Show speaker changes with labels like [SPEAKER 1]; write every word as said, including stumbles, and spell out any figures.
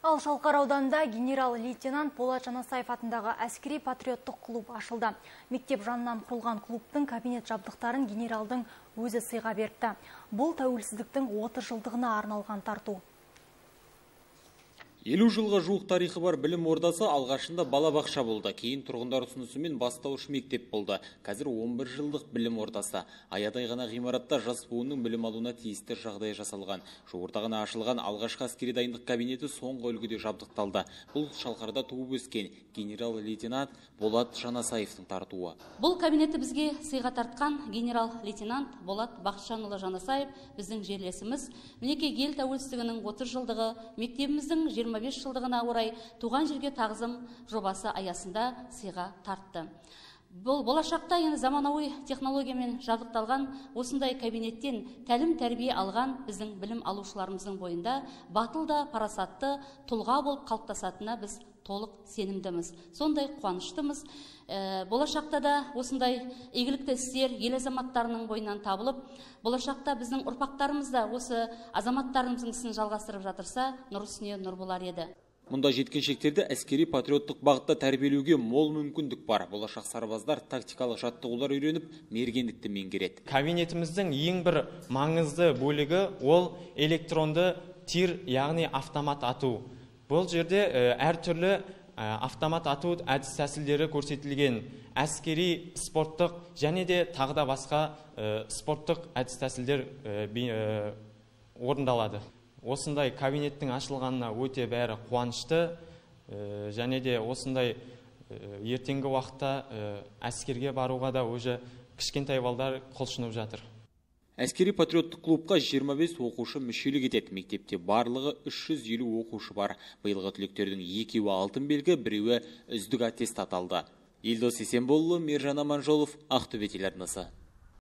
[SPEAKER 1] Ал Шалқар ауданында генерал-лейтенант Болат Жанасаев атындағы әскери патриоттық клуб ашылды. Мектеп жанынан құрылған клубтың кабинет жабдықтарын генералдың өзі сыйға беріпті. Бұл тәуелсіздіктің отыз жылдығына арналған тарту.
[SPEAKER 2] елу жылға жуық тарихы бар білім ордасы алғашында балабақша болды. Кейін тұрғындар ұсынысымен бастауыш мектеп болды. Қазір он бір жылдық білім ордасы. Аядай ғана ғимаратта жас буынның білім алуына тиісті жағдай жасалған. Жуырда ғана ашылған алғашқы әскери дайындық кабинеті соңғы үлгіде жабдықталды. Бұл Шалқарда туып өскен генерал-лейтенант Болат Жанасаевтың тартуы.
[SPEAKER 3] Бұл кабинеті бізге сыйға тартқан генерал-лейтенант Болат Бақытжанұлы Жанасаев біздің жерлесіміз. Мінекей ел тәуелсіздігінің отыз жылдығы, мектебіміздің жиырма бес жылдығына орай туған жерге тағзым жобасы аясында сыйға тартты. Бұл болашақта енді заманауи технологиямен жабдықталған осындай кабинеттен тәлім тәрбие алған біздің білім алушыларымыздың бойында батыл да парасатты тұлға болып қалыптасатынына біз толық сенімдіміз. Сондай қуаныштымыз. Ә, болашақта да осындай игілікті істер ел азаматтарының бойынан табылып, болашақта біздің ұрпақтарымыз да осы азаматтарымыздың ісін жалғастырып жатырса, нұр үстіне нұр болар еді.
[SPEAKER 2] Мұнда жеткіншектерді әскери патриоттық бағытта тәрбиелеуге мол мүмкіндік бар. Болашақ сарбаздар тактикалық жаттығулар үйреніп, мергендікті меңгереді.
[SPEAKER 4] Кабинетіміздің ең бір маңызды бөлігі ол электронды тир, яғни автомат ату. Бұл жерде әртүрлі автомат ату әдіс тәсілдері көрсетілген. Әскери, спорттық және де тағы да басқа спорттық әдіс тәсілдер орындалады. Осындай кабинеттің ашылғанына өте бәрі қуанышты, және де осындай ертеңгі уақытта әскерге баруға да өзі кішкентай балдар құлшынып жатыр.
[SPEAKER 2] Әскери патриоттық клубқа жиырма бес оқушы мүшелік етеді. Мектепте барлығы үш жүз елу оқушы бар. Биылғы түлектердің екеуі алтын белгі, біреуі үздік аттестат алды. Елдос Есенболұлы, Мержан Аманжолов, Ақтөбе телеарнасы.